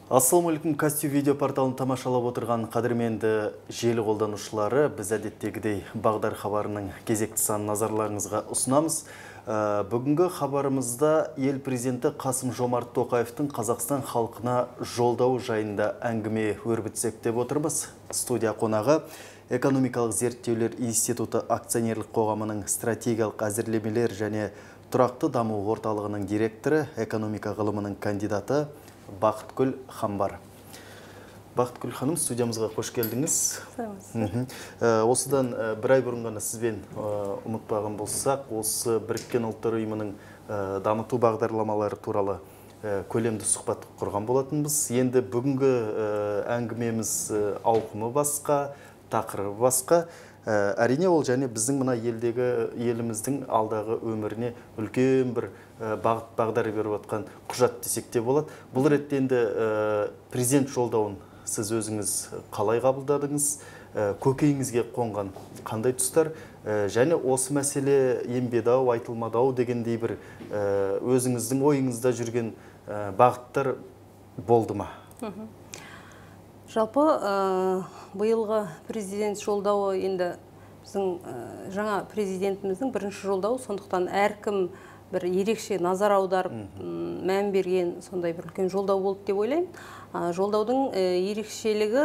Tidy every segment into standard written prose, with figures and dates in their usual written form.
Ассалаумалейкум, Кастю видео порталын тамашалап отырған қадірменді желі қолданушылары, біз әдеттегідей Бағдар хабарының кезекті санын назарларыңызға ұсынамыз. Бүгінгі хабарымызда ел президенті Қасым-Жомарт Тоқаевтың Қазақстан халқына жолдауы жайында әңгіме өрбітсек деп отырмыз. Студия қонағы Экономикалық зерттеулер институты акционерлік қоғамының стратегиялық әзірлемелер және тұрақты даму орталығының директоры, экономика ғылымының кандидаты Бақытгүл Хамбар. Бақытгүл ханым, студиямызға қош келдіңіз. Осыдан бір ай бұрын ғана сізбен ұмытпаған болсақ, осы Біріккен ұлттар ұйымының дамыту бағдарламалары туралы көлемді сұхбат құрған болатынбыз. Енді бүгінгі әңгімеміз ауқымы басқа, тақырыбы басқа. Әрине ол және біздің мына еліміздің алдағы өміріне үлкен бір бағдар беріп отқан құжат десек те болады. Бұл ретте енді президент жолдауын сіз өзіңіз қалай қабылдадыңыз? Көкейіңізге қонған қандай тұстар? Және осы мәселе ембедау, айтылмадау дегендей бір өзіңіздің ойыңызда жүрген бағыттар болды ма? Жалпы бұйылғы президент жолдауы енді біздің жаңа президентіміздің бірінші жолдауы, сондықтан әркім бір ерекше назар аударып, мән берген сондай бір үлкен жолдау болды деп ойлаймын. Жолдаудың ерекшелігі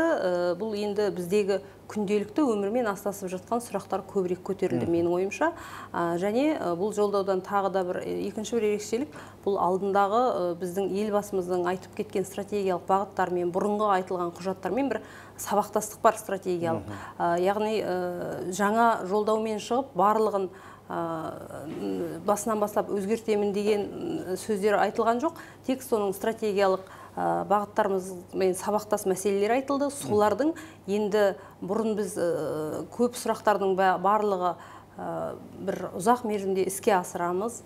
бұл енді біздегі күнделікті өмірмен астасып жатқан сұрақтар көбірек көтерілді менің ойымша. Және бұл жолдаудан тағы да бір екінші бір ерекшелік, бұл алдындағы біздің елбасымыздың айтып кеткен стратегиялық бағыттармен, бұрынғы айтылған құжаттармен бір сабақтастық бар стратегиялық. Яғни жаңа жолдаумен шығып барлығын басынан бастап өзгертемін деген сөздер айтылған жоқ. Тек соның стратегиялық бағыттарымызбен сабақтас мәселелер айтылды. Солардың енді бұрын біз көп сұрақтардың барлығы бір ұзақ мерзімде іске асырамыз,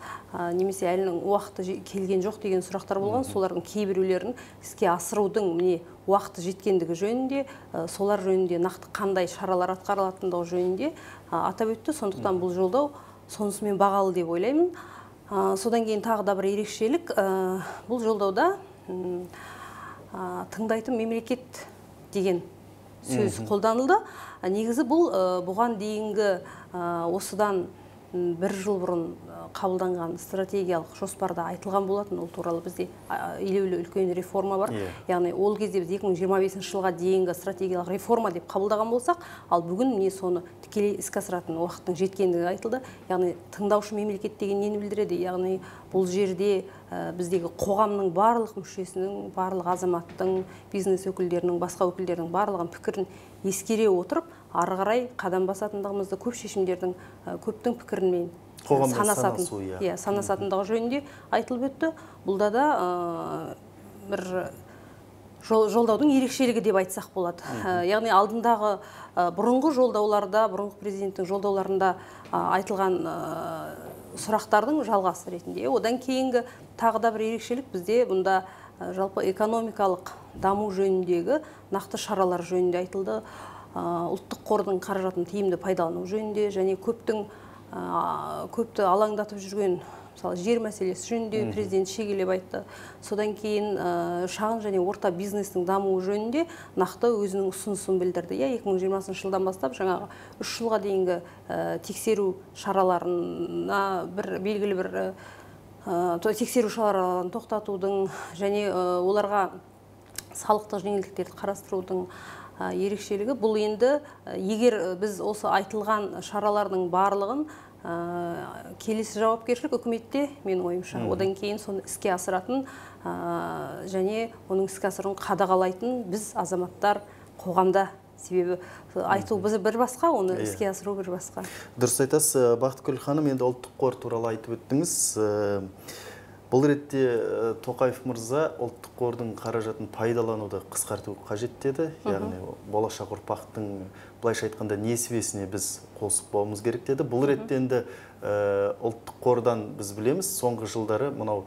немесе әлінің уақыты келген жоқ деген сұрақтар болған. Солардың кейбіреулерін іске асырудың уақыты жеткендігі жөнінде, солар жөнінде нақты қандай шаралар атқарылатындығы жөнінде атап өтті. Сондықтан бұл жолдау сонысымен бағалы деп ойлаймын. Содан кейін тағы да бір ерекшелік, бұл жолдауда тыңдайтын мемлекет деген сөз қолданылды. Негізі бұл бұған дейінгі осыдан бір жыл бұрын қабылданған стратегиялық жоспарда айтылған болатын. Ол туралы бізде елеулі үлкен реформа бар. Яғни ол кезде біз 2025 жылға дейінгі стратегиялық реформа деп қабылдаған болсақ, ал бүгін міне соны тікелей іске асыратын уақыттың жеткендігі айтылды. Яғни тыңдаушы мемлекет деген нені білдіреді? Яғни бұл жерде біздегі қоғамның барлық мүшесінің, барлық азаматтың, бизнес өкілдерінің, басқа өкілдерінің барлығын пікірін ескере отырып, ары қарай қадам басатындығымызды, көп шешімдердің көптің пікірінмен санасатындығы жөнінде айтылып өтті. Бұлда да бір жолдаудың ерекшелігі деп айтсақ болады. Яғни алдындағы бұрынғы жолдауларда, бұрынғы президенттің жолдауларында айтылған сұрақтардың жалғасы ретінде. Одан кейінгі тағы да бір ерекшелік бізде бұнда жалпы экономикалық даму жөніндегі нақты шаралар жөнінде айтылды. Ұлттық қордың қаражатын тиімді пайдалану жөнінде және көпті алаңдатып жүрген жер мәселесі жөнінде президент шегелеп айтты. Содан кейін шағын және орта бизнестің дамуы жөнінде нақты өзінің ұсынысын білдірді. 2020 жылдан бастап жаңағы 3 жылға дейінгі тексеру шараларына белгілі бір тексеру шараларын тоқтатудың және оларға салықтық жеңілдіктерді қарастырудың ерекшелігі. Бұл енді егер біз осы айтылған шаралардың барлығын келесі жауапкершілік үкіметте, менің ойымша. Одан кейін соны іске асыратын және оның іске асыруын қадағалайтын біз азаматтар қоғамда. Себебі айту бір басқа, оны іске асыру бір басқа. Дұрыс айтасыз, Бақытгүл ханым, енді ұлттық қор туралы айтып өттіңіз. Бұл ретте Тоқаев мырза ұлттық қордың қаражатын пайдалануды қысқарту қажет деді. Яғни болашақ ұрпақтың былайша айтқанда несібесіне біз қосып болуымыз керек деді. Бұл ретте енді ұлттық қордан біз білеміз, соңғы жылдары мынау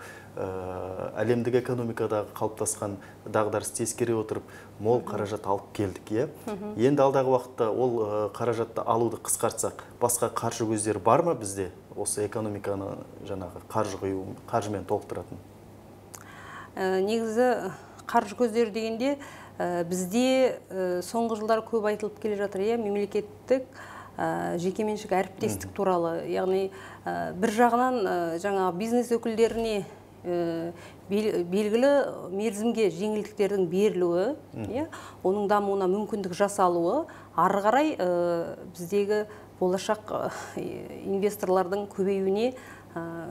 әлемдік экономикадағы қалыптасқан дағдарысты ескере отырып, мол қаражат алып келдік. Енді алдағы уақытта ол қаражатты алуды қысқартсақ, басқа қаржы көздері бар ма бізде? Осы экономиканы жаңағы қаржымен толықтыратын? Негізі қаржы көздері дегенде бізде соңғы жылдар көп айтылып келе жатыр, мемлекеттік жекеменшік әріптестік туралы. Яғни бір жағынан жаңа бизнес өкілдеріне белгілі мерзімге жеңілдіктердің берілуі, оның дамуына мүмкіндік жасалуы, ары қарай біздегі болашақ инвесторлардың көбеюіне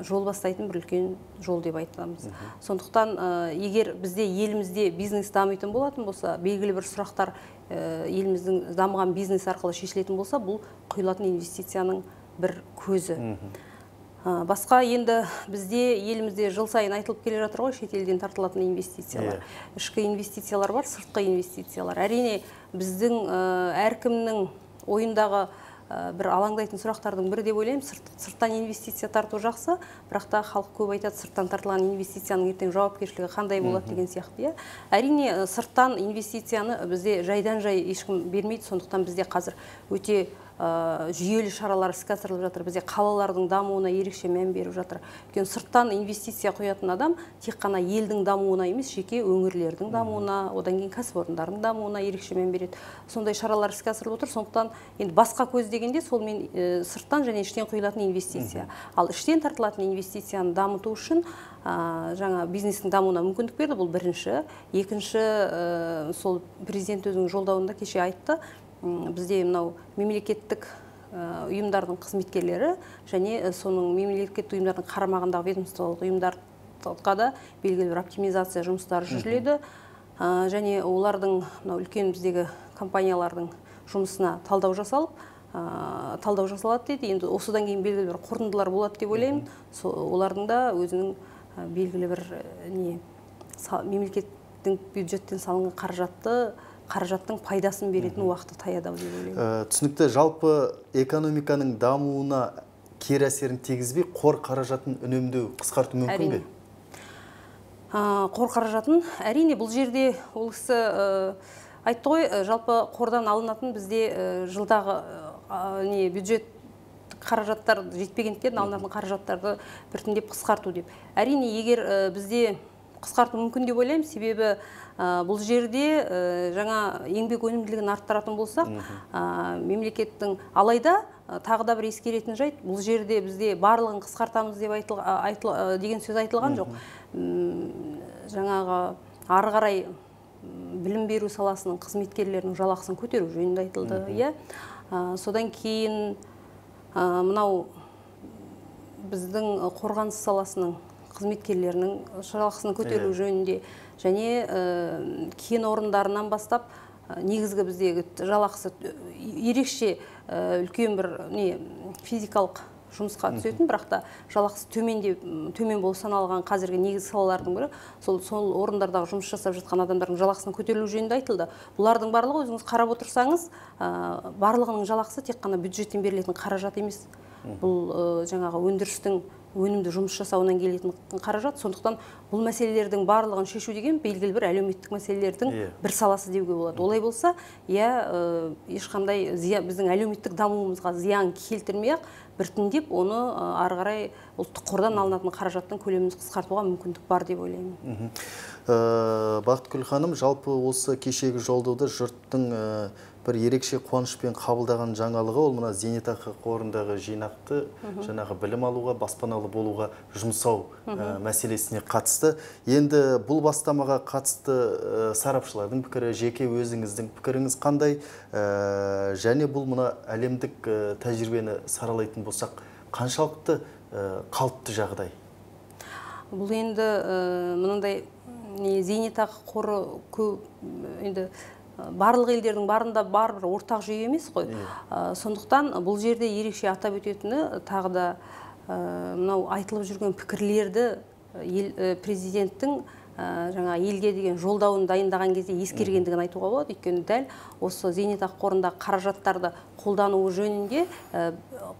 жол бастайтын бір үлкен жол деп айтамыз. Сондықтан егер бізде елімізде бизнес дамитын болатын болса, белгілі бір сұрақтар еліміздің дамыған бизнес арқылы шешілетін болса, бұл құйылатын инвестицияның бір көзі. Басқа енді бізде елімізде жыл сайын айтылып келе жатыр ғой, шетелден тартылатын инвестициялар. Ішкі инвестициялар бар, сыртқы инвестициялар. Әрине біздің әркімнің ойындағы бір алаңдайтын сұрақтардың бірі деп ойлаймын. Сырттан инвестиция тарту жақсы, бірақ та халық көп айтады, сырттан тартылған инвестицияның ертең жауапкершілігі қандай болады деген сияқты. Әрине сырттан инвестицияны бізде жайдан жай ешкім бермейді, сондықтан бізде қазір өте жүйелі шаралар іске асырылып жатыр. Бізде қалалардың дамуына ерекше мән беріп жатыр. Өйткені сырттан инвестиция құятын адам тек қана елдің дамуына емес, жеке өңірлердің дамуына, одан кейін кәсіпорындардың дамуына ерекше мән береді. Сондай шаралар іске асырылып отыр. Сондықтан енді басқа көз дегенде сол мен сырттан және іштен құйылатын инвестиция. Ал іштен тартылатын инвестицияны дамыту үшін жаңа бизнестің дамуына мүмкіндік берді. Бұл бірінші. Екінші, сол президент өзінің жолдауында кеше айтты. Бізде мынау мемлекеттік ұйымдардың қызметкерлері және соның мемлекеттік ұйымдардың қарамағындағы ведомстволық ұйымдарға да белгілі бір оптимизация жұмыстары жүргізіледі. Және олардың үлкен біздегі компаниялардың жұмысына талдау жасалады дейді. Енді осыдан кейін белгілі бір қорытындылар болады деп ойлаймын. Олардың да өзінің белгілі бір мемлекеттің бюджеттен салынған қаражаттың пайдасын беретін уақыты таяды деп ойлаймын. Түсінікті, жалпы экономиканың дамуына кері әсерін тигізбей, қор қаражатын үнемдеу, қысқарту мүмкін бе? Қор қаражатын, әрине, бұл жерде ол кісі айтты ғой, жалпы қордан алынатын бізде жылдағы бюджет қаражаттар жетпегендіктен алынатын қаражаттарды біртіндеп қысқарту деп. Әрине, егер бізде қысқарту мүмкін деп ойлаймын, себебі бұл жерде жаңа еңбек өнімділігін арттыратын болсақ, мемлекеттің алайда тағы да бір ескеретін жайт, бұл жерде бізде барлығын қысқартамыз деп деген сөз айтылған жоқ. Жаңағы ары қарай білім беру саласының қызметкерлерінің жалақысын көтеру жөнінде айтылды. Содан кейін мынау біздің қорғаныс саласының қызметкерлерінің жалақысын көтеру жөнінде және кен орындарынан бастап негізгі біздегі жалақысы ерекше үлкен бір физикалық жұмысқа түсетін, бірақ та жалақысы төмен болып саналған қазіргі негізгі салалардың бірі сол орындардағы жұмыс жасап жатқан адамдардың жалақысының көтерілу жөнінде айтылды. Бұлардың барлығы өзіңіз қарап отырсаңыз, барлығының жалақысы тек қана бюджеттен берілетін қаражат емес. Бұл жаңағы өндірістің өнімді жұмыс жасауынан келетін қаражат. Сондықтан бұл мәселелердің барлығын шешу деген белгілі бір әлеуметтік мәселелердің бір саласы деуге болады. Олай болса, ешқандай біздің әлеуметтік дамуымызға зиян келтірмей-ақ, біртіндеп оны ары қарай ұлттық қордан алынатын қаражаттың көлемін қысқартуға мүмкіндік бар деп ойлаймын. Бақытгүл ханым, жалпы осы кешегі жолдауда жұрттың бір ерекше қуанышпен қабылдаған жаңалығы ол мына зейнетақы қорындағы жинақты жаңағы білім алуға, баспаналы болуға жұмсау мәселесіне қатысты. Енді бұл бастамаға қатысты сарапшылардың пікірі, жеке өзіңіздің пікіріңіз қандай? Және бұл мына әлемдік тәжірибені саралайтын болсақ, қаншалықты қалыпты жағдай? Бұл енді мынандай зейнетақы қоры көп енді барлық елдердің барында бар бір ортақ жүйе емес қой. Сондықтан бұл жерде ерекше атап өтетіні тағы да мынау айтылып жүрген пікірлерді президенттің жаңа елге деген жолдауын дайындаған кезде ескергендігін айтуға болады. Өйткені дәл осы зейнетақы қорындағы қаражаттарды қолдануы жөнінде,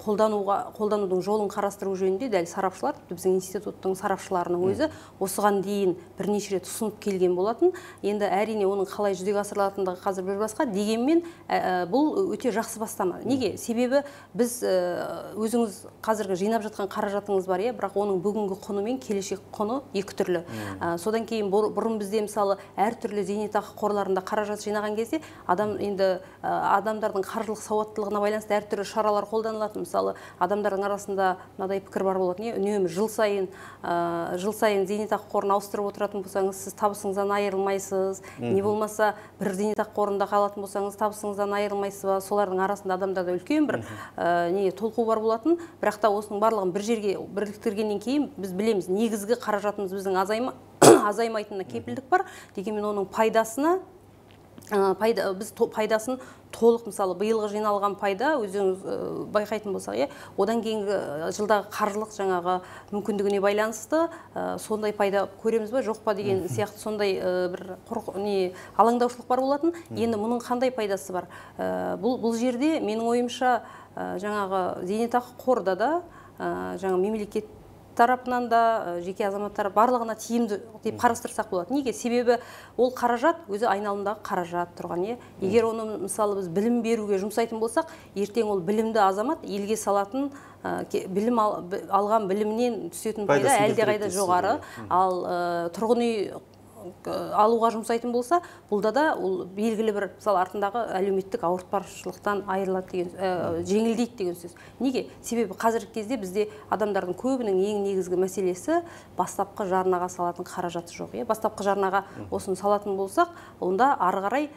қолданудың жолын қарастыру жөнінде дәл сарапшылар, біздің институттың сарапшыларының өзі осыған дейін бірнеше рет ұсынып келген болатын. Енді әрине оның қалай жүзеге асырылатындығы қазір бір басқа, дегенмен бұл өте жақсы бастама. Неге? Себебі біз өзіңіз қазіргі жинап жатқан қаражатыңыз бар, бірақ оның бүгінгі құны мен келешек құны екі түрлі. Содан кейін бұрын бізде мысалы әртүрлі зейнетақы қорларында қаражат жинаған кезде адамдардың қаржылық сауаттылығына байланысты әртүрлі шаралар қолданылатын. Мысалы адамдардың арасында мынадай пікір бар болатын, үнемі жыл сайын зейнетақы қорын ауыстырып отыратын болсаңыз, сіз табысыңыздан айырылмайсыз, не болмаса бір зейнетақы қорында қалатын болсаңыз, табысыңыздан айырылмайсыз ба. Солардың арасында адамдарда үлкен бір толқу бар болатын. Бірақ та осының барлығын бір жерге біріктіргеннен кейін біз білеміз, негізгі қаражатымыз біздің азаймайтынына кепілдік бар. Дегенмен оның біз пайдасын толық, мысалы биылғы жиналған пайда өзіңіз байқайтын болсақ, одан кейінгі жылдағы қаржылық жаңағы мүмкіндігіне байланысты сондай пайда көреміз ба жоқ па деген сияқты сондай бір алаңдаушылық бар болатын. Енді мұның қандай пайдасы бар? Бұл жерде менің ойымша жаңағы зейнетақы қорда да жаңа мемлекет тарапынан да жеке азаматтар барлығына тиімді деп қарастырсақ болады. Неге? Себебі ол қаражат өзі айналымдағы қаражат тұрған. Егер оны мысалы біз білім беруге жұмсайтын болсақ, ертең ол білімді азамат елге салатын білім алған білімнен түсетін пайда әлдеқайда жоғары. Ал тұрғын үй алуға жұмсайтын болса, бұлда да ол белгілі бір мысалы артындағы әлеуметтік ауыртпашылықтан айырылады деген, жеңілдейді деген сөз. Неге? Себебі қазіргі кезде бізде адамдардың көбінің ең негізгі мәселесі бастапқы жарнаға салатын қаражаты жоқ. Бастапқы жарнаға осыны салатын болсақ, онда ары қарай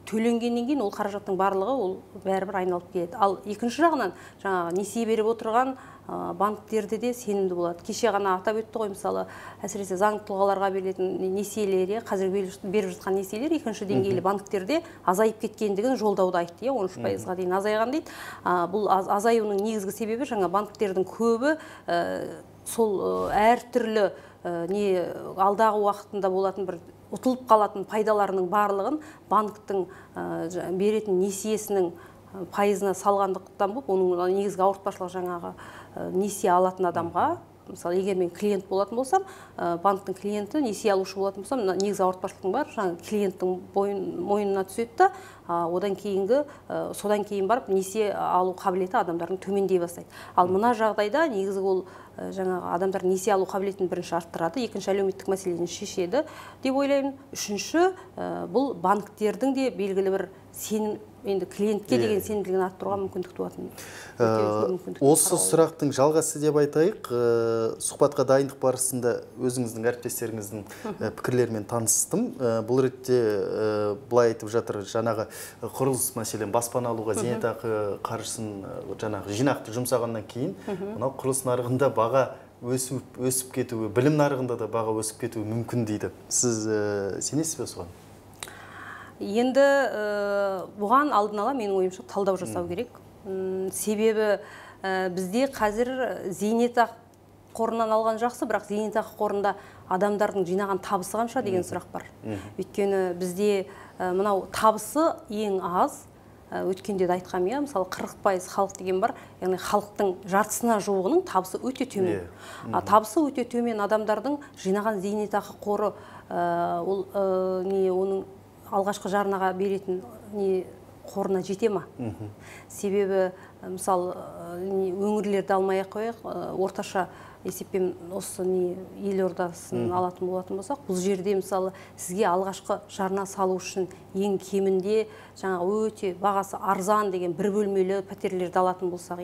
төленгеннен кейін ол қаражаттың барлығы ол бәрібір айналып келеді. Ал екінші жағынан жаңағы несие беріп отырған банктерде де сенімді болады. Кеше ғана атап өтті ғой, мысалы, әсіресе заңды тұлғаларға берілетін несиелер, қазір беріп жатқан несиелер екінші деңгейлі банктерде азайып кеткендігін жолдауда айтты, 13%-ға дейін азайған дейді. Бұл азаюының негізгі себебі жаңа банктердің көбі сол әртүрлі алдағы уақытында болатын бір ұтылып қалатын пайдаларының барлығын банктің беретін несиесінің пайызына салғандықтан болып, оның негізгі ауыртпашылығы жаңағы несие алатын адамға, мысалы, егер мен клиент болатын болсам, банктың клиенті несие алушы болатын болсам, негізгі ауыртпашылықтың бар, жаңағы клиенттің мойнына түседі, содан кейін барып несие алу қабілеті адамдардың төмендей бастайды. Ал мына жағдайда негізгі ол жаңағы адамдар несие алу қабілетін бірінші арттырады, екінші әлеуметтік мәселені шешеді деп ойлаймын. Үшінші, бұл банктердің де белгілі бір сенім, енді клиентке деген сенімділігін арттыруға мүмкіндік туатын. Осы сұрақтың жалғасы деп айтайық. Сұхбатқа дайындық барысында өзіңіздің әріптестеріңіздің пікірлерімен таныстым. Бұл ретте былай айтып жатыр, жаңағы құрылыс мәселен баспана алуға зейнетақы қаржысын жаңағы жинақты жұмсағаннан кейін, мынау құрылыс нарығында баға өсіп кетуі, білім нарығында да баға өсіп кетуі мүмкін дейді. Сіз сенесіз бе соған? Енді бұған алдын ала менің ойымша талдау жасау керек. Себебі бізде қазір зейнетақы қорынан алған жақсы, бірақ зейнетақы қорында адамдардың жинаған табысы қанша деген сұрақ бар. Өйткені бізде мынау табысы ең аз, өткенде де айтқам, мысалы 40% халық деген бар, яғни халықтың жартысына жуығының табысы өте төмен. Табысы өте төмен адамдардың жинаған зейнетақы қоры оның алғашқы жарнаға беретін қорына жете ма? Себебі, мысалы, өңірлерді алмай-ақ қояйық, орташа есеппен осы елордасын алатын болатын болсақ, бұл жерде мысалы сізге алғашқы жарна салу үшін ең кемінде жаңа өте бағасы арзан деген бір бөлмелі пәтерлерді алатын болсақ,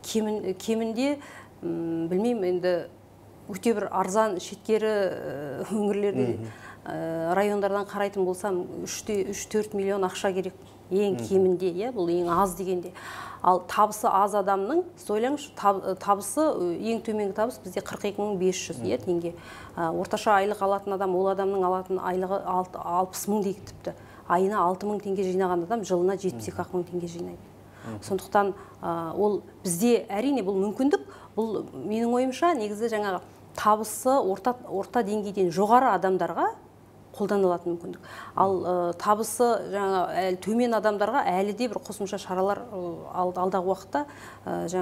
кемінде білмеймін, енді өте бір арзан шеткері өңірлерде райондардан қарайтын болсам 3-4 миллион ақша керек ең кемінде, бұл ең аз дегенде. Ал табысы аз адамның, ойлаңызшы, табысы ең төменгі табыс бізде 42.500 теңге. Орташа айлық алатын адам, ол адамның алатын айлығы 60 мың дейік тіпті. Айына 6 мың теңге жинаған адам жылына 72 мың теңге жинайды. Сондықтан ол бізде әрине бұл мүмкіндік, бұл менің ойымша негізі жаңағы табысы орта деңгейден жоғары адамдарға қолданылатын мүмкіндік. Ал табысы төмен адамдарға әлі де бір қосымша шаралар алдағы уақытта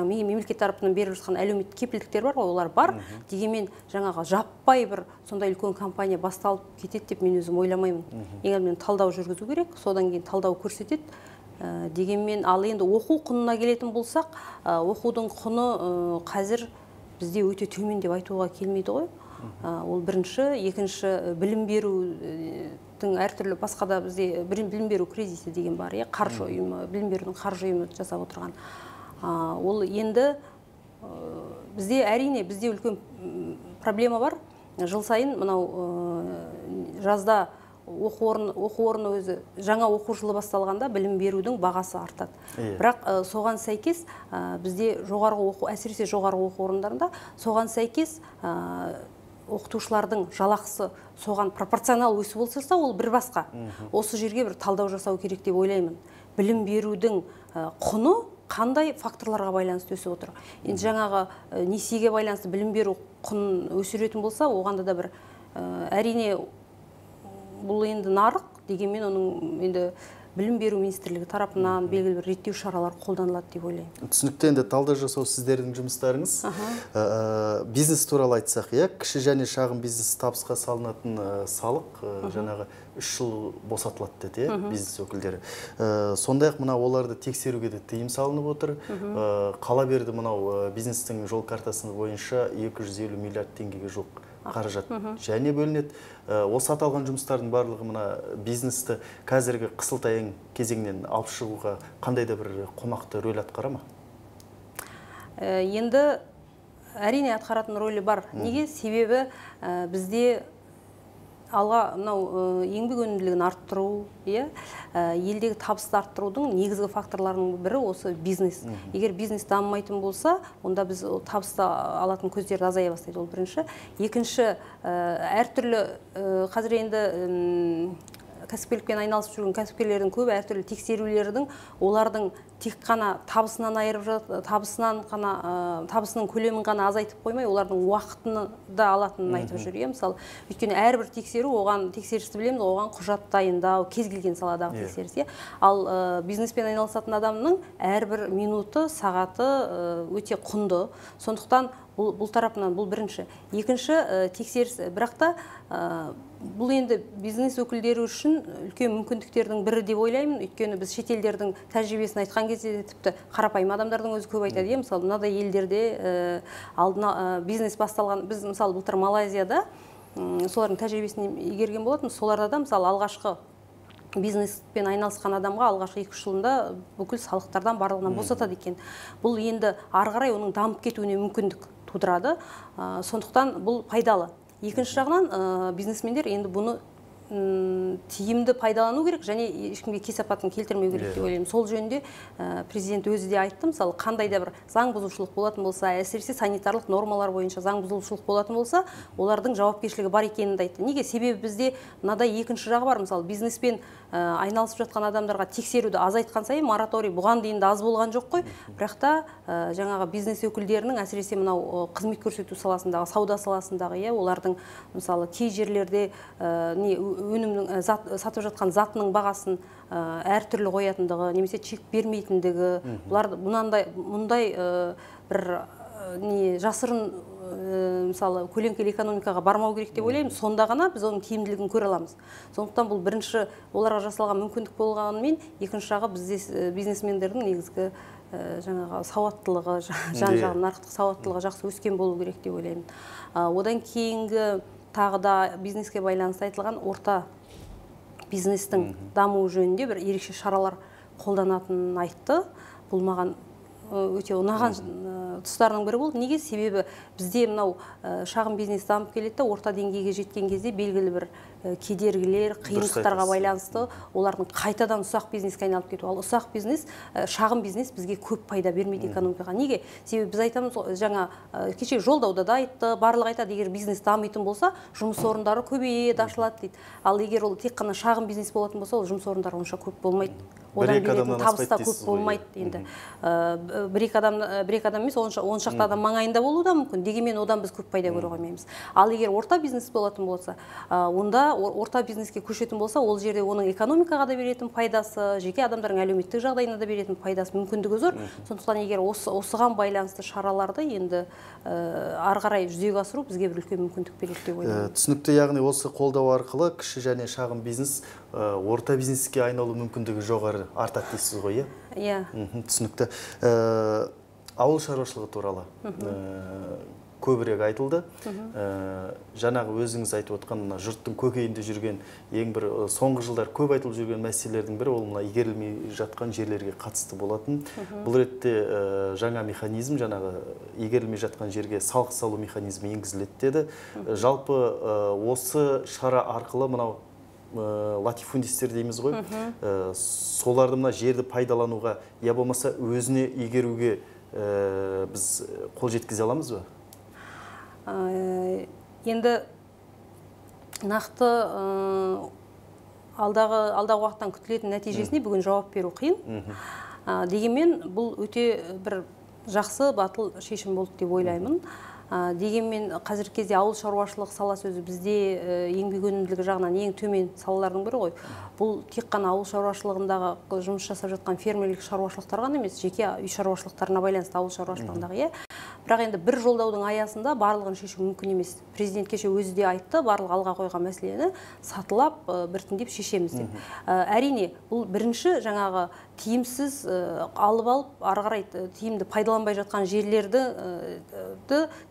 мемлекет тарапынан беріп жатқан әлеуметтік кепілдіктер бар ғой, олар бар. Дегенмен жаңағы жаппай бір сондай үлкен компания басталып кетеді деп мен өзім ойламаймын. Ең алдымен талдау жүргізу керек, содан кейін талдау көрсетеді. Дегенмен ал енді оқу құнына келетін болсақ, оқудың құны қазір бізде өте төмен деп айтуға келмейді ғой. Ол бірінші, екінші білім берудің әртүрлі басқа да бізде білім беру кризисі деген бар, қаржы ұйымы, білім берудің қаржы ұйымы жасап отырған. Ол енді бізде әрине бізде үлкен проблема бар. Жыл сайын мынау жазда оқу орны өзі жаңа оқу жылы басталғанда білім берудің бағасы артады. Бірақ соған сәйкес бізде әсіресе жоғарғы оқу орындарында соған сәйкес оқытушылардың жалақысы соған пропорционал өсіп болса, ол бір басқа. Осы жерге бір талдау жасау керек деп ойлаймын. Білім берудің құны қандай факторларға байланысты өсіп отыр. Енді жаңағы несиеге байланысты білім беру құнын өсіретін болса, оғанда да бір әрине бұл енді нарық дегенмен оның енді білім беру министрлігі тарапынан белгілі бір реттеу шаралар қолданылады деп ойлаймын. Түсінікті, енді талдау жасау сіздердің жұмыстарыңыз. Бизнес туралы айтсақ, кіші және шағын бизнес табысқа салынатын салық жаңағы 3 жыл босатылады деді, бизнес өкілдері. Сондай-ақ мынау оларды тексеруге де тыйым салынып отыр. Қала берді мынау бизнестің жол картасы бойынша 250 миллиард теңгеге жуық қаражат және бөлінеді. Осы аталған жұмыстардың барлығы мына бизнесті қазіргі қысылтаяң кезеңнен алып шығуға қандай да бір қомақты рөл атқара ма? Енді әрине атқаратын рөлі бар. Неге? Себебі бізде алға мынау еңбек өнімділігін арттыру, елдегі табысты арттырудың негізгі факторларының бірі осы бизнес. Егер бизнес дамымайтын болса, онда біз табысты алатын көздерді азая бастайды, ол бірінші. Екінші, әртүрлі қазір енді кәсіпкерлікпен айналысып жүрген кәсіпкерлердің көбі әртүрлі тексерулердің олардың тек қана табысынан айырып табысының көлемін ғана азайтып қоймай, олардың уақытын да алатынын айтып жүр. Мысалы, өйткені әрбір тексеру, оған тексерісті білеміз, оған құжат дайындау, кез келген саладағы тексеріс. Ал бизнеспен айналысатын адамның әрбір минуты, сағаты өте құнды. Сондықтан бұл тарапынан бұл бірінші. Екінші тексеріс, бірақ та бұл енді бизнес өкілдері үшін үлкен мүмкіндіктердің бірі деп ойлаймын. Өйткені біз шетелдердің тәжірибесін айтқан кезде тіпті қарапайым адамдардың өзі көп айтады. Мысалы, мынадай елдерде алдына бизнес басталған, біз мысалы былтыр Малайзияда солардың тәжірибесін игерген болатын. Соларда да мысалы алғашқы бизнеспен айналысқан адамға алғашқы 2 жылында бүкіл салықтардан барлығынан босатады екен. Бұл енді ары қарай оның дамып кетуіне мүмкіндік тудырады. Сондықтан бұл пайдалы. Екінші жағынан бизнесмендер енді бұны тиімді пайдалану керек және ешкімге кесапатын келтірмеу керек деп ойлаймын. Сол жөнінде президент өзі де айтты, мысалы, қандай да бір заң бұзушылық болатын болса, әсіресе санитарлық нормалар бойынша заң бұзушылық болатын болса, олардың жауапкершілігі бар екенін айтты. Неге? Себебі бізде мынадай екінші жағы бар. Мысалы, бизнеспен айналысып жатқан адамдарға тексеруді азайтқан сайын мораторий бұған дейін де аз болған жоқ қой. Бірақ та жаңағы бизнес өкілдерінің әсіресе мынау қызмет көрсету саласындағы, сауда саласындағы, олардың мысалы кей жерлерде өнімнің сатып жатқан затының бағасын әртүрлі қоятындығы, немесе чек бермейтіндігі, бұлар мұндай бір жасырын мысалы көлеңкелі экономикаға бармау керек деп ойлаймын. Сонда ғана біз оның тиімділігін көре аламыз. Сондықтан бұл бірінші оларға жасалған мүмкіндік болғанымен, екінші жағы бизнесмендердің негізгі жаңағы сауаттылығы, жан-жағын нарықтық сауаттылығы жақсы өскен болу керек деп ойлаймын. Одан кейінгі тағы да бизнеске байланысты айтылған орта бизнестің дамуы жөнінде бір ерекше шаралар қолданатынын айтты. Бұл маған өте ұнаған тұстарының бірі болды. Неге? Себебі бізде мынау шағын бизнес дамып келеді, орта деңгейге жеткен кезде белгілі бір кедергілер, қиындықтарға байланысты олардың қайтадан ұсақ бизнеске айналып кету. Ал ұсақ бизнес, шағын бизнес бізге көп пайда бермейді экономикаға. Неге? Себебі біз айтамыз, жаңа кеше жолдауда да айтты, барлығы айтады, егер бизнес дамитын болса, жұмыс орындары көбейеді, ашылады дейді. Ал егер ол тек қана шағын бизнес болатын болса, ол жұмыс орындары онша көп болмайды. Одан беретін табыс та көп болмайды енді. Бір-екі адам емес, он шақты адам маңайында болуы да мүмкін. Дегенмен одан біз көп пайда көре қоймаймыз. Ал егер орта бизнес болатын болса, онда орта бизнеске көшетін болса, ол жерде оның экономикаға да беретін пайдасы, жеке адамдардың әлеуметтік жағдайына да беретін пайдасы, мүмкіндігі зор. Сондықтан егер осыған байланысты шараларды енді ары қарай жүзеге асыру бізге бір үлкен мүмкіндік береді деп ойлаймын. Түсінікті, яғни осы қолдау арқылы кіші және шағын бизнес орта бизнеске айналу мүмкіндігі жоғары артады дейсіз ғой, иә? Түсінікті. Ауыл шаруашылығы туралы көбірек айтылды. Жаңағы өзіңіз айтып отқан мына жұрттың көкейінде жүрген ең бір соңғы жылдар көп айтылып жүрген мәселелердің бірі ол мына игерілмей жатқан жерлерге қатысты болатын. Бұл ретте жаңа механизм, жаңағы игерілмей жатқан жерге салық салу механизмі енгізіледі деді. Жалпы осы шара арқылы мынау латифундистер дейміз ғой, соларды мына жерді пайдалануға, я болмаса өзіне игеруге біз қол жеткізе аламыз ба? Енді нақты алдағы уақыттан күтілетін нәтижесіне бүгін жауап беру қиын. Дегенмен бұл өте бір жақсы батыл шешім болды деп ойлаймын. Дегенмен қазіргі кезде ауыл шаруашылық саласы өзі бізде еңбек өнімділігі жағынан ең төмен салалардың бірі ғой. Бұл тек қана ауыл шаруашылығындағы жұмыс жасап жатқан фермерлік шаруашылықтар ғана емес, жеке үй шаруашылықтарына байланысты ауыл шаруашылығындағы, бірақ енді бір жолдаудың аясында барлығын шешу мүмкін емес. Президент кеше өзі де айтты, барлық алға қойған мәселені сатылап біртіндеп шешеміз деп. Әрине, бұл бірінші жаңағы тиімсіз алып ары қарай тиімді пайдаланбай жатқан жерлерді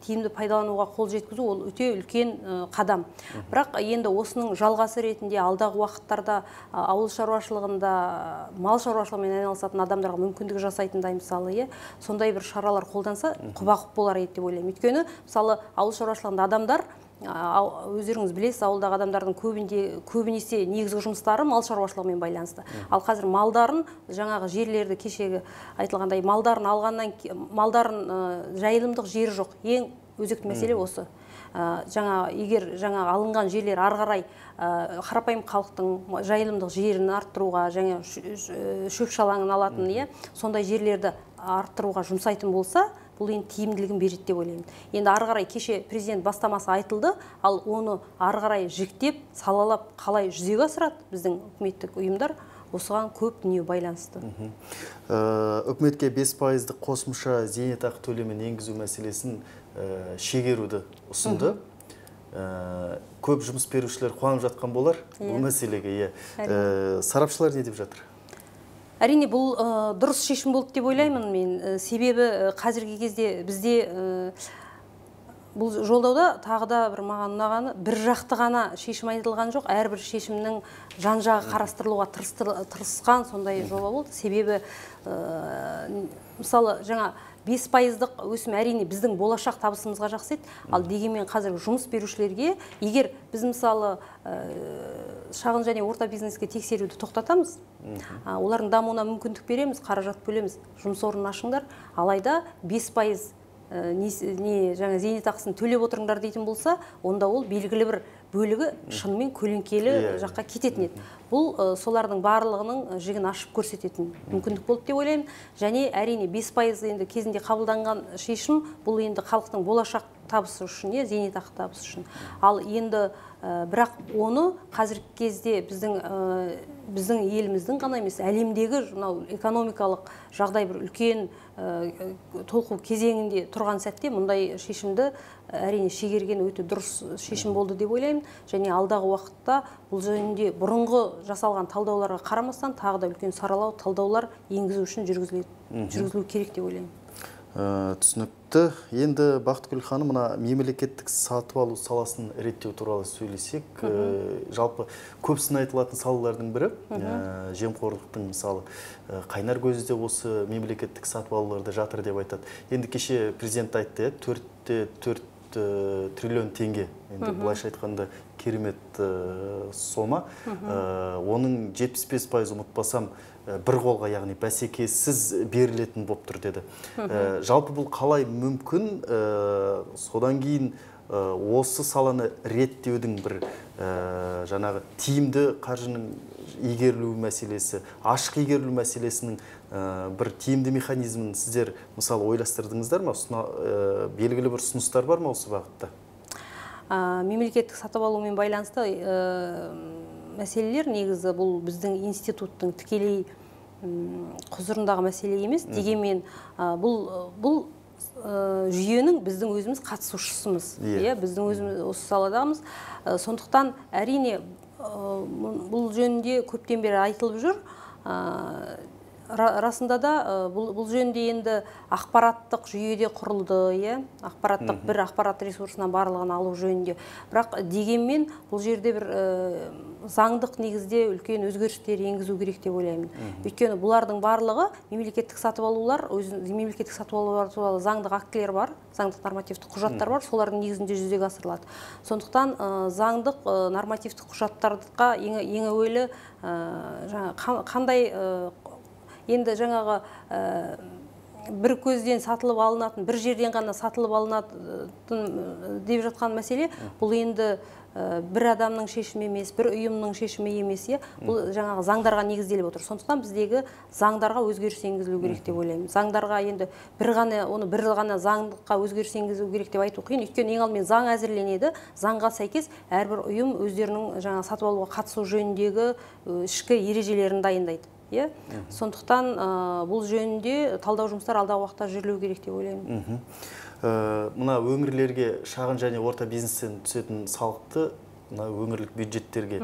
тиімді пайдалануға қол жеткізу ол өте үлкен қадам. Бірақ енді осының жалғасы ретінде алдағы уақыттарда ауыл шаруашылығында мал шаруашылығымен айналысатын адамдарға мүмкіндік жасайтындай мысалы, сондай бір шаралар қолданса құба-құп болар еді деп ойлаймын. Өйткені мысалы ауыл шаруашылығында адамдар, өздеріңіз білесіз, ауылдағы адамдардың көбінесе негізгі жұмыстары мал шаруашылығымен байланысты. Ал қазір малдарын, жаңағы жерлерді кешегі айтылғандай, малдарын алғаннан малдарын жайылымдық жері жоқ. Ең өзекті мәселе осы. Егер алынған жерлер ары қарай қарапайым халықтың жайылымдық жерін арттыруға, шөп шалаңын алатын, сондай жерлерді арттыруға жұмсайтын болса, бұл енді тиімділігін береді деп ойлаймын. Енді ары қарай кеше президент бастамасы айтылды, ал оны ары қарай жіктеп, салалап қалай жүзеге асырады біздің үкіметтік ұйымдар, осыған көп дүние байланысты. Үкіметке 5%-ық қосымша зейнетақы төлемін енгізу мәселесін шегеруді ұсынды. Көп жұмыс берушілер қуанып жатқан болар бұл мәселеге. Сарапшылар не деп жатыр? Әрине, бұл дұрыс шешім болды деп ойлаймын мен. Себебі қазіргі кезде бізде бұл жолдауда тағы да бір маған ұнағаны, бір жақты ғана шешім айтылған жоқ, әрбір шешімнің жан-жағы қарастырылуға тырысқан сондай жоба болды. Себебі мысалы жаңа 5%-ық өсім әрине біздің болашақ табысымызға жақсы еді, ал дегенмен қазір жұмыс берушілерге, егер біз мысалы шағын және орта бизнеске тексеруді тоқтатамыз, олардың дамуына мүмкіндік береміз, қаражат бөлеміз, жұмыс орнын ашыңдар, алайда 5% зейнетақысын төлеп отырыңдар дейтін болса, онда ол белгілі бір бөлігі шынымен көлеңкелі жаққа кететін еді. Бұл солардың барлығының жігін ашып көрсететін мүмкіндік болды деп ойлаймын. Және әрине 5% енді кезінде қабылданған шешім, бұл енді халықтың болашақ табысы үшін, зейнетақы табысы үшін. Ал енді бірақ оны қазіргі кезде біздің еліміздің ғана емес, әлемдегі экономикалық жағдай бір үлкен толқу кезеңінде тұрған сәтте мұндай шешімді әрине шегерген өте дұрыс шешім болды деп ойлаймын. Және алдағы уақытта бұл жөнінде бұрынғы жасалған талдауларға қарамастан тағы да үлкен саралау талдаулар енгізу үшін жүргізілу керек деп ойлаймын. Түсінікті. Енді Бақтыгүл ханым, мына мемлекеттік сатып алу саласын реттеу туралы сөйлесек, жалпы көпсін айтылатын салалардың бірі, жемқорлықтың мысалы қайнар көзі де осы мемлекеттік сатып алуларда жатыр деп айтады. Енді кеше президент айтты, 4,4 триллион теңге, енді былайша айтқанда керемет сома. Оның 75% ұмытпасам бір қолға, яғни бәсекесіз берілетін болып тұр деді. Жалпы бұл қалай мүмкін? Содан кейін осы саланы реттеудің бір жаңағы тиімді қаржының игерілу мәселесі, ашық игерілу мәселесінің бір тиімді механизмін сіздер мысалы ойластырдыңыздар ма? Белгілі бір ұсыныстар бар ма осы бағытта? Мемлекеттік сатып алумен байланысты мәселелер негізі бұл біздің институттың тікелей құзырындағы мәселе емес. Дегенмен бұл жүйенің біздің өзіміз қатысушысымыз. Біздің өзіміз осы саладамыз. Сондықтан әрине бұл жөнінде көптен бері айтылып жүр. расында да бұл жөнінде енді ақпараттық жүйеде құрылды, ақпараттық бір ақпарат ресурсынан барлығын алу жөнінде. Бірақ дегенмен бұл жерде бір заңдық негізде үлкен өзгерістер енгізу керек деп ойлаймын. Өйткені бұлардың барлығы мемлекеттік сатып алулар туралы заңдық актілер бар, заңдық нормативтік құжаттар бар, солардың негізінде жүзеге асырылады. Сондықтан заңдық нормативтік құжаттарға ең әуелі қандай енді жаңағы бір көзден сатылып алынатын, бір жерден ғана сатылып алынатын деп жатқан мәселе, бұл енді бір адамның шешімі емес, бір ұйымның шешімі емес, бұл жаңағы заңдарға негізделіп отыр. Сондықтан біздегі заңдарға өзгеріс енгізілу керек деп ойлаймын. Заңдарға енді бір ғана заңдыққа өзгеріс енгізу керек деп айту қиын. Өйткені ең алдымен заң әзірленеді, заңға сәйкес әрбір ұйым өздерінің жаңағы сатып алуға қатысу жөніндегі ішкі ережелерін дайындайды. Сондықтан бұл жөнінде талдау жұмыстар алдағы уақытта жүрілу керек деп ойлаймын. Мына өңірлерге шағын және орта бизнестен түсетін салықты өңірлік бюджеттерге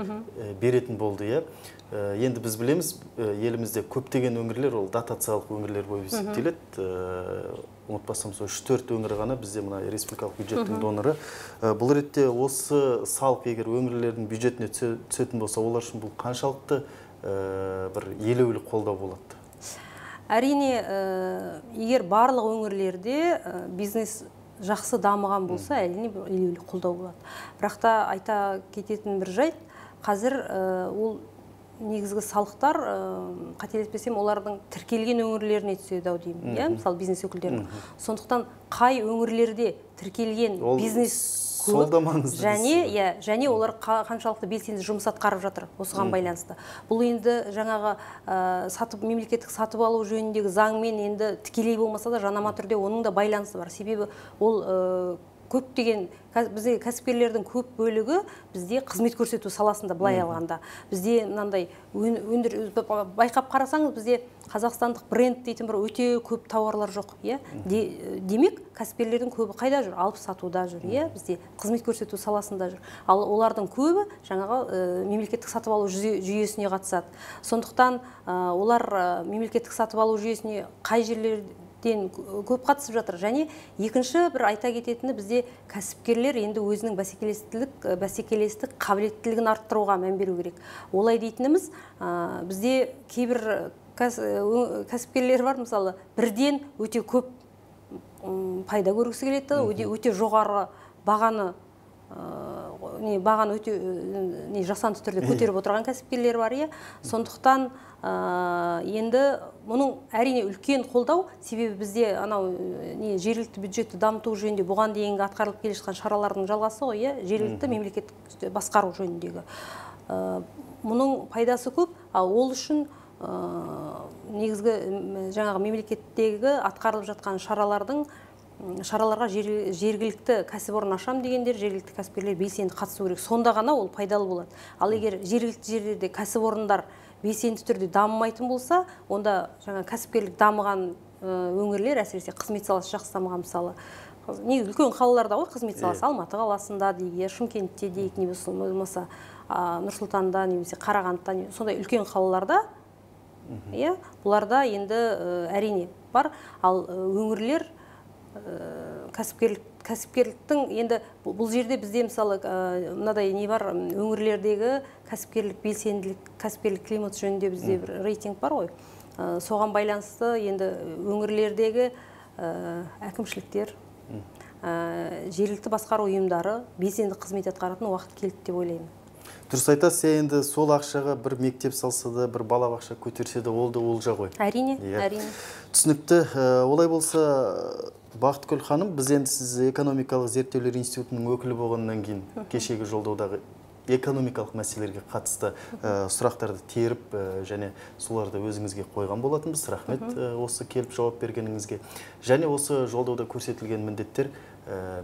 беретін болды. Енді біз білеміз, елімізде көптеген өңірлер ол дотациялық өңірлер болып есептеледі. Ұмытпасам, 3-4 өңір ғана бізде мына республикалық бюджеттің доноры. Бұл ретте осы салық егер өңірлердің бюджетіне түсетін болса, олар үшін бұл қаншалықты бір елеулі қолдау болады? Әрине, егер барлық өңірлерде бизнес жақсы дамыған болса, әрине елеулі қолдау болады. Бірақ та айта кететін бір жайт, қазір ол негізгі салықтар, қателеспесем, олардың тіркелген өңірлеріне түседі деймін, мысалы бизнес өкілдерінің. Сондықтан қай өңірлерде тіркелген бизнес және олар қаншалықты белсенді жұмыс атқарып жатыр осыған байланысты. Бұл енді жаңағы мемлекеттік сатып алу жөніндегі заңмен енді тікелей болмаса да жанама түрде оның да байланысы бар. Себебі ол көптеген бізде кәсіпкерлердің көп бөлігі бізде қызмет көрсету саласында былай алғанда. Бізде мынандай байқап қарасаңыз, бізде қазақстандық бренд дейтін бір өте көп тауарлар жоқ. Демек, кәсіпкерлердің көбі қайда жүр? Алып сатуда жүр. Бізде қызмет көрсету саласында жүр. Ал олардың көбі жаңағы мемлекеттік сатып алу жүйесіне қатысады. Сондықтан олар мемлекеттік сатып алу жүйесіне қай жерлерде көп қатысып жатыр. Және екінші бір айта кететіні, бізде кәсіпкерлер енді өзінің бәсекелестік қабілеттілігін арттыруға мән беру керек. Олай дейтініміз, бізде кейбір кәсіпкерлер бар, мысалы, бірден өте көп пайда көргісі келеді, өте жоғары бағаны өте жасанды түрде көтеріп отырған кәсіпкерлер бар. Сондықтан енді мұның әрине үлкен қолдау, себебі бізде жергілікті бюджетті дамыту жөнінде бұған дейінгі атқарылып келе жатқан шаралардың жалғасы ғой, жергілікті мемлекеттік басқару жөніндегі. Мұның пайдасы көп, ал ол үшін негізгі жаңағы мемлекеттегі атқарылып жатқан шараларға жергілікті кәсіпорын ашам дегендер, жергілікті кәсіпкерлер белсенді қатысу керек. Сонда ғана ол пайдалы болады. Ал егер жергілікті жерлерде кәсіпорындар белсенді түрде дамымайтын болса, онда жаңа кәсіпкерлік дамыған өңірлер, әсіресе қызмет саласы жақсы дамыған, мысалы, үлкен қалаларда ғой қызмет саласы, Алматы қаласында дейік, Шымкентте дейік, немесе Нұр-Сұлтанда, немесе Қарағандыда, сондай үлкен қалаларда, бұларда енді әрине бар. Ал өңірлер кәсіпкерліктің енді бұл жерде бізде мысалы мынадай не бар, өңірлердегі кәсіпкерлік белсенділік, кәсіпкерлік климат жөнінде бізде бір рейтинг бар ғой. Соған байланысты енді өңірлердегі әкімшіліктер, жергілікті басқару ұйымдары белсенді қызмет атқаратын уақыт келді деп ойлаймын. Дұрыс айтасыз, енді сол ақшаға бір мектеп салса да, бір балабақша көтерсе де, ол да олжа ғой. Әрине. Түсінікті. Олай болса, Бақытгүл ханым, біз енді сіз экономикалық зерттеулер институтының өкілі болғаннан кейін кешегі жолдаудағы экономикалық мәселелерге қатысты сұрақтарды теріп және соларды өзіңізге қойған болатынбыз. Рахмет осы келіп жауап бергеніңізге. Және осы жолдауда көрсетілген міндеттер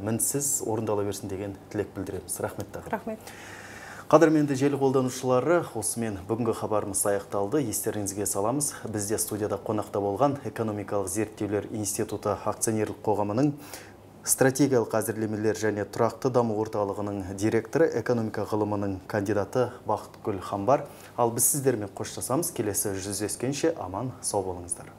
мінсіз орындала берсін деген тілек білдіреміз. Рахмет тағы. Рахмет. Қадірменді желі қолданушылары, осымен бүгінгі хабарымыз аяқталды. Естеріңізге саламыз. Бізде студияда қонақта болған экономикалық зерттеулер институты акционерлік қоғамының стратегиялық әзірлемелер және тұрақты даму орталығының директоры, экономика ғылымының кандидаты Бақытгүл Хамбар. Ал біз сіздермен қоштасамыз. Келесі жүздескенше аман сау болыңыздар.